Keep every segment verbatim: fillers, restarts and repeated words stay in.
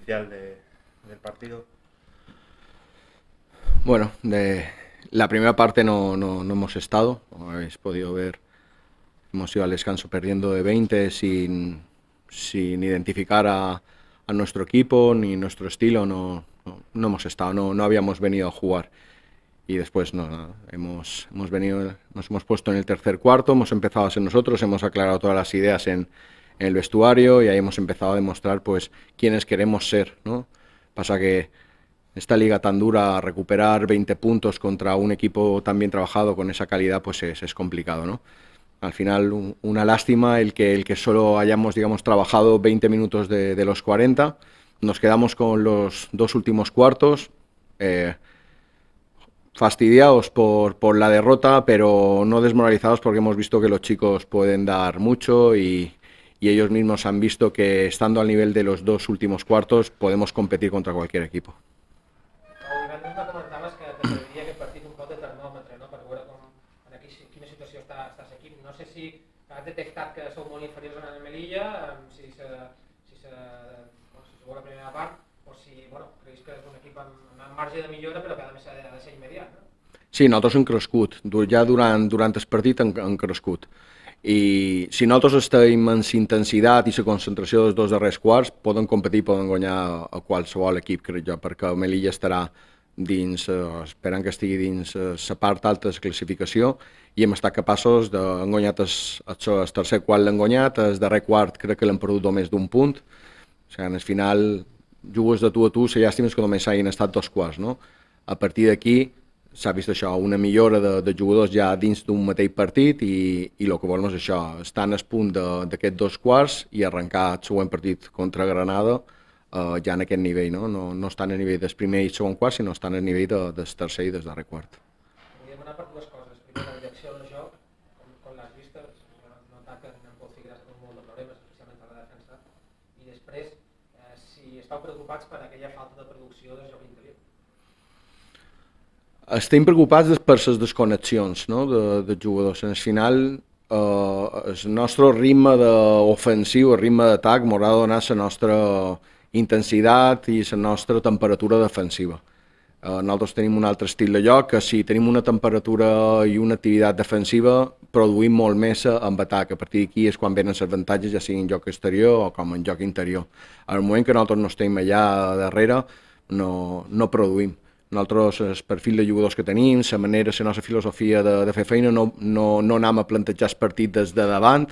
inicial de, del partido? Bueno, de la primera parte no, no, no hemos estado, como habéis podido ver, hemos ido al descanso perdiendo de veinte sin, sin identificar a, a nuestro equipo ni nuestro estilo, no, no, no hemos estado, no, no habíamos venido a jugar. Y después no, nada, hemos, hemos venido, nos hemos puesto en el tercer cuarto, hemos empezado a ser nosotros, hemos aclarado todas las ideas en, en el vestuario y ahí hemos empezado a demostrar pues quiénes queremos ser, ¿no? Pasa que esta liga tan dura, recuperar veinte puntos contra un equipo tan bien trabajado con esa calidad, pues es, es complicado, ¿no? Al final, un, una lástima el que, el que solo hayamos, digamos, trabajado veinte minutos de, de los cuarenta. Nos quedamos con los dos últimos cuartos, eh, fastidiados por, por la derrota, pero no desmoralizados porque hemos visto que los chicos pueden dar mucho y, y ellos mismos han visto que estando al nivel de los dos últimos cuartos podemos competir contra cualquier equipo. El divendres me comentaves que, que serviria aquest partit un pot de termòmetre, no? Per veure com, en aquí, quina situació està, està l'equip. No sé si has detectat que sou molt inferiors a la Melilla, si se, si se, bueno, si jugeu la primera part, o si bueno, creus que és un equip amb, amb marge de millora, però que a més ha de, ha de ser immediat, no? Sí, nosaltres hem crescut, ja durant, durant el partit hem, hem crescut. I si nosaltres estem en la intensitat i la concentració dels dos darrers quarts, poden competir, poden guanyar a qualsevol equip, crec jo, perquè Melilla estarà dins, eh, esperant que estigui dins la eh, part alta de la classificació i hem estat capaços de, hem guanyat el, el tercer quart l'hem guanyat, el darrer quart crec que l'hem perdut només d'un punt, o sigui, en el final jugues de tu a tu, la llàstima és que només hagin estat dos quarts, no? A partir d'aquí s'ha vist això, una millora de, de jugadors ja dins d'un mateix partit i, i el que volem és això, estar en el punt d'aquests dos quarts i arrencar el següent partit contra Granada eh, ja en aquest nivell, no? No, no estan a nivell del primer i segon quart, sinó estan a nivell de, del tercer i del darrer quart. Vull demanar per dues coses. Primer, la direcció del joc, com, com l'has vist, jo no he notat que en Pol Figueras té molt de problemes, especialment a la defensa, i després, eh, si estàu preocupats per aquella falta de producció del joc interior. Estem preocupats per les desconnexions, no? de, de jugadors. Al final, eh, el nostre ritme ofensiu, el ritme d'atac, m'haurà de donar la nostra intensitat i la nostra temperatura defensiva. Eh, nosaltres tenim un altre estil de joc, que si tenim una temperatura i una activitat defensiva, produïm molt més amb atac. A partir d'aquí és quan venen els avantatges, ja sigui en joc exterior o com en joc interior. Al moment que nosaltres no estem allà darrere, no, no produïm. Nosaltres, el perfil de jugadors que tenim, la manera, la nostra filosofia de, de fer feina, no, no, no anem a plantejar el partit des de davant,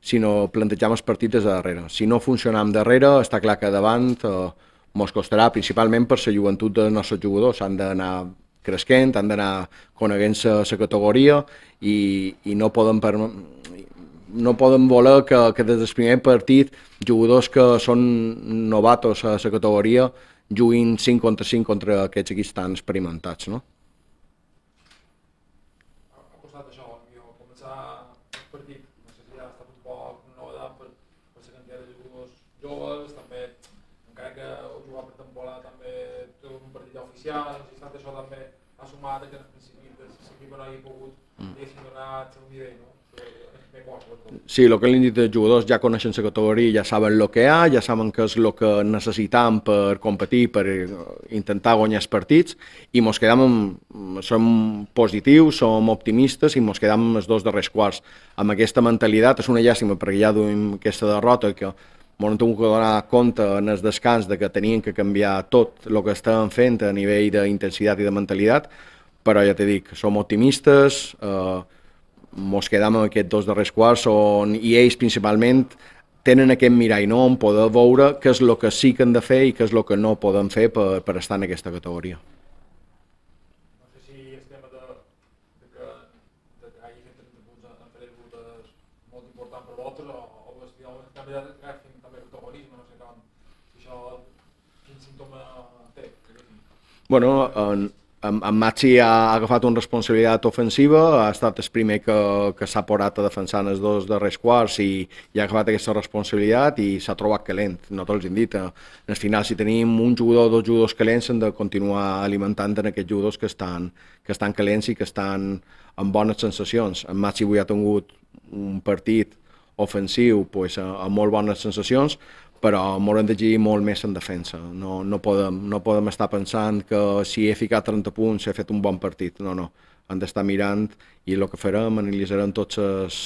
sinó plantejar el partit des de darrere. Si no funcionam darrere, està clar que davant eh, mos costarà, principalment per la joventut dels nostres jugadors. Han d'anar creixent, han d'anar coneguent la categoria i, i no poden per, no poden voler que, que des del primer partit jugadors que són novatos a la categoria juguin cinc contra cinc contra aquests equips tan experimentats, no? Ha costat això, jo, començar el partit, no sé si ha estat un poc novedat per, per la quantitat de jugadors joves, també, encara que jugar per temporada també té un partit ja oficial, no sé si ha estat això també ha sumat que en el principi l'equip no hagi pogut, diguéssim, donar el seu nivell, no? Sí, el que li han dit els jugadors ja coneixen la categoria, ja saben el que hi ha, ja saben què és el que necessitam per competir, per intentar guanyar els partits, i mos quedam amb, som positius, som optimistes i mos quedam amb els dos darrers quarts. Amb aquesta mentalitat és una llàstima perquè ja duim aquesta derrota que ens hem tingut que donar compte en el descans de que tenien que canviar tot el que estàvem fent a nivell d'intensitat i de mentalitat, però ja t'he dit, som optimistes, eh, mos quedam amb aquests dos darrers quarts on, i ells principalment tenen aquest mirall, no? On poder veure què és el que sí que han de fer i què és el que no poden fer per, per estar en aquesta categoria. No sé si el tema de, de que, de que hagi fet trenta punts en fer les és molt important per vosaltres o, o el també agafin també protagonisme, no sé com, si això, quin símptoma té? Bueno, en, en, en Maxi ha agafat una responsabilitat ofensiva, ha estat el primer que, que s'ha posat a defensar en els dos darrers quarts i, i ha agafat aquesta responsabilitat i s'ha trobat calent. Nosaltres els hem dit, al final si tenim un jugador o dos jugadors calents hem de continuar alimentant en aquests jugadors que estan, que estan calents i que estan amb bones sensacions. En Maxi avui ha tingut un partit ofensiu pues, amb molt bones sensacions, però m'haurem d'exigir molt més en defensa. No, no, podem, no podem estar pensant que si he ficat trenta punts he fet un bon partit. No, no. Hem d'estar mirant i el que farem, analitzarem tots les,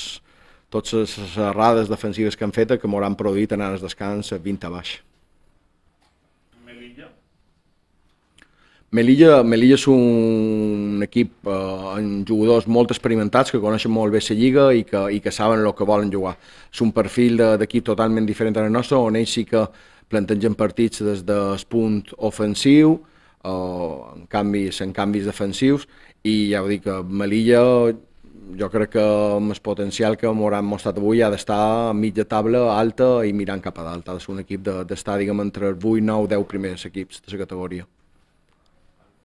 totes les errades defensives que han fet que m'hauran produït en el descans vint a baix. Melilla? Melilla, Melilla és un equip eh, amb jugadors molt experimentats que coneixen molt bé la lliga i que, i que saben el que volen jugar. És un perfil d'equip totalment diferent del nostre, on ells sí que plantegen partits des del punt ofensiu, eh, en, canvis, en canvis defensius, i ja ho dic, Melilla jo crec que amb el potencial que m'hauran mostrat avui ha d'estar a mitja taula alta i mirant cap a dalt. Ha de ser un equip d'estar, diguem, entre els vuit, nou, deu primers equips de la categoria.